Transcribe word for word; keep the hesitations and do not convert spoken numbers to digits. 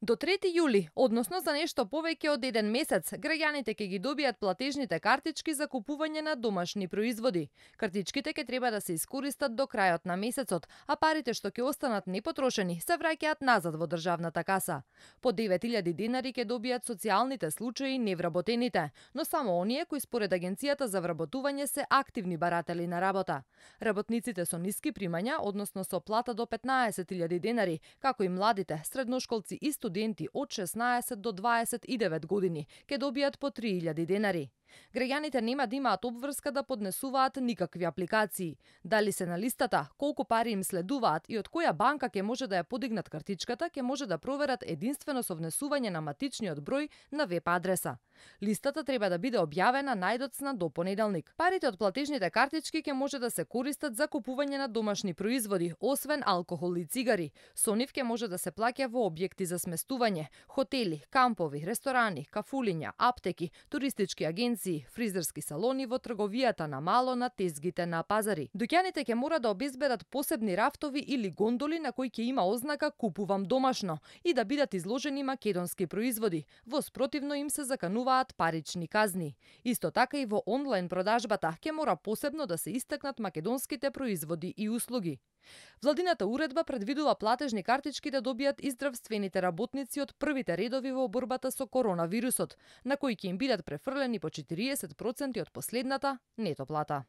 До трети јули, односно за нешто повеќе од еден месец, граѓаните ќе ги добијат платежните картички за купување на домашни производи. Картичките ќе треба да се искористат до крајот на месецот, а парите што ќе останат непотрошени се враќаат назад во државната каса. По девет илјади денари ќе добијат социјалните случаи и невработените, но само оние кои според Агенцијата за вработување се активни баратели на работа. Работниците со ниски примања, односно со плата до петнаесет илјади денари, како и младите, средношколци и студенти од шеснаесет до дваесет и девет години, ќе добијат по три илјади денари. Граѓаните нема да имаат обврска да поднесуваат никакви апликации. Дали се на листата, колку пари им следуваат и од која банка ќе може да ја подигнат картичката, ќе може да проверат единствено со внесување на матичниот број на веб адреса. Листата треба да биде објавена најдоцна до понеделник. Парите од платежните картички ќе може да се користат за купување на домашни производи, освен алкохол и цигари. Со нив ќе може да се плаќа во објекти за сместување, хотели, кампови, ресторани, кафулиња, аптеки, туристички агенции, фризерски салони, во трговијата на мало, на тезгите на пазари. Дуќаните ќе мора да обезбедат посебни рафтови или гондоли на кои ќе има ознака "Купувам домашно" и да бидат изложени македонски производи. Во спротивно им се закануваат парични казни. Исто така и во онлайн продажбата ќе мора посебно да се истакнат македонските производи и услуги. Владината уредба предвидува платежни картички да добијат и здравствените работници од првите редови во борбата со коронавирусот, на кои ќе им бидат префрлени по четириесет проценти од последната нето плата.